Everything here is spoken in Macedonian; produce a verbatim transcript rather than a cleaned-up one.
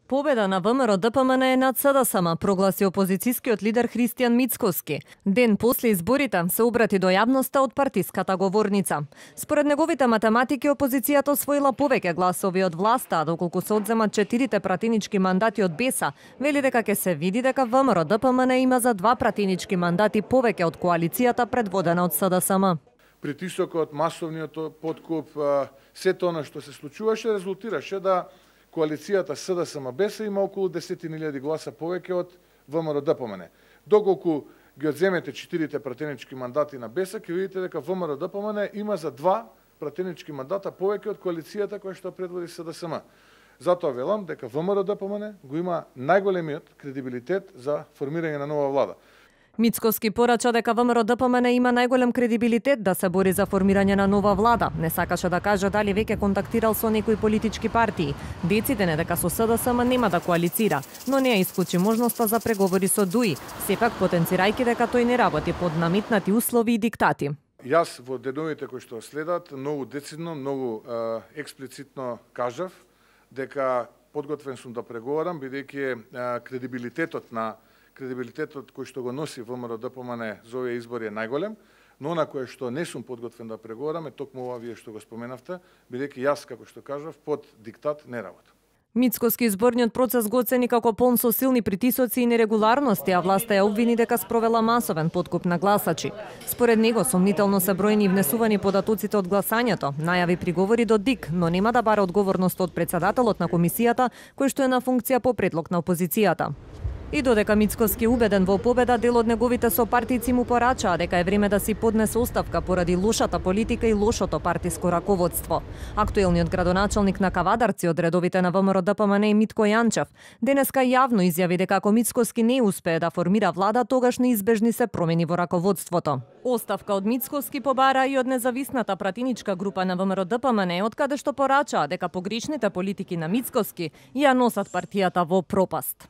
Победа на ВМРО-ДПМН е над СДСМ, прогласи опозицијскиот лидер Христијан Мицкоски. Ден после изборите се обрати до јавноста од партиската говорница. Според неговите математики, опозицијата освоила повеќе гласови од власта, а доколку се одземат четирите пратенички мандати од БЕСА, вели дека ќе се види дека ВМРО-ДПМН има за два пратенички мандати повеќе од коалицијата предводена од СДСМ. Притисокот, масовниот подкуп, сето она што се случуваше резултираше да коалицијата СДСМ-БЕСА има околу десетина илјади гласа повеќе од ВМРО-ДПМН. Доколку ги одземете четирите пратенички мандати на БЕСА, ќе видите дека ВМРО-ДПМН има за два пратенички мандата повеќе од коалицијата која што предводи СДСМ. Затоа велам дека ВМРО-ДПМН го има најголемиот кредибилитет за формирање на нова влада. Мицкоски порача дека ВМРО-ДПМН има најголем кредибилитет да се бори за формирање на нова влада. Не сакаше да каже дали веќе контактирал со некои политички партии. Деците не дека со СДСМ нема да коалицира, но не ја исклучи можноста за преговори со ДУИ, сепак потенцирајќи дека тој не работи под наметнати услови и диктати. Јас во деновите кои што следат многу децидно, многу е, експлицитно кажав дека подготвен сум да преговарам, бидејќи кредибилитетот на Кредибилитетот кој што го носи ВМРО-ДПМН за овие избори е најголем, но она кое што не сум подготвен да преговарам е токму ова вие што го споменавте, бидејќи јас, како што кажав, под диктат не работам. Мицкоски изборниот процес го оцени како полн со силни притисоци и нерегуларности, а власта ја обвини дека спровела масовен подкуп на гласачи. Според него, сомнително се бројни и внесувани податоците од гласањето, најави приговори до ДИК, но нема да бара одговорност од председателот на комисијата, кој што е на функција по предлог на опозицијата. И додека Мицкоски убеден во победа, дел од неговите сопартици му порачаа дека е време да си поднесе оставка поради лошата политика и лошото партиско раководство. Актуелниот градоначалник на Кавадарци од редовите на ВМРО-ДПМН и Митко Јанчев денеска јавно изјави дека ако Мицкоски не успее да формира влада, тогаш неизбежни се промени во раководството. Оставка од Мицкоски побара и од независната пратеничка група на ВМРО-ДПМН, од каде што порачаа дека погрешните политики на Мицкоски ја носат партијата во пропаст.